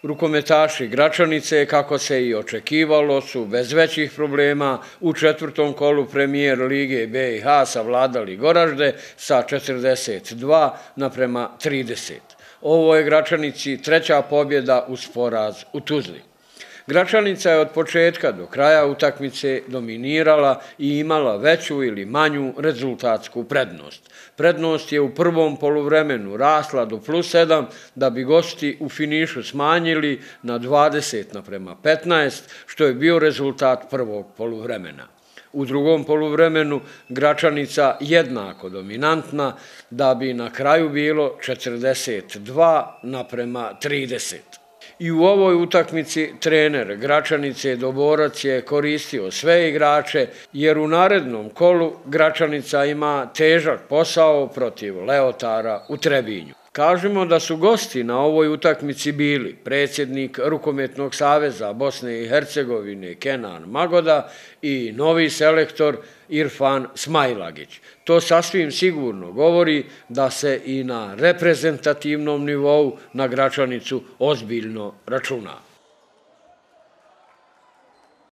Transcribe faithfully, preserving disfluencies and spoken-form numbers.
Rukometaši Gračanice, kako se i očekivalo, su bez većih problema u četvrtom kolu Premijer Lige B i H savladali Goražde sa četrdeset dva naprema trideset. Ovo je Gračanici treća pobjeda uz poraz u Tuzli. Gračanica je od početka do kraja utakmice dominirala i imala veću ili manju rezultatsku prednost. Prednost je u prvom poluvremenu rasla do plus sedam, da bi gosti u finišu smanjili na dvadeset naprema petnaest, što je bio rezultat prvog poluvremena. U drugom poluvremenu Gračanica jednako dominantna, da bi na kraju bilo četrdeset dva naprema trideset. I u ovoj utakmici trener Gračanice Doborac je koristio sve igrače, jer u narednom kolu Gračanica ima težak posao protiv Leotara u Trebinju. Kažemo da su gosti na ovoj utakmici bili predsjednik Rukometnog saveza Bosne i Hercegovine Kenan Magoda i novi selektor Irfan Smajlagić. To sasvim sigurno govori da se i na reprezentativnom nivou na Gračanicu ozbiljno računa.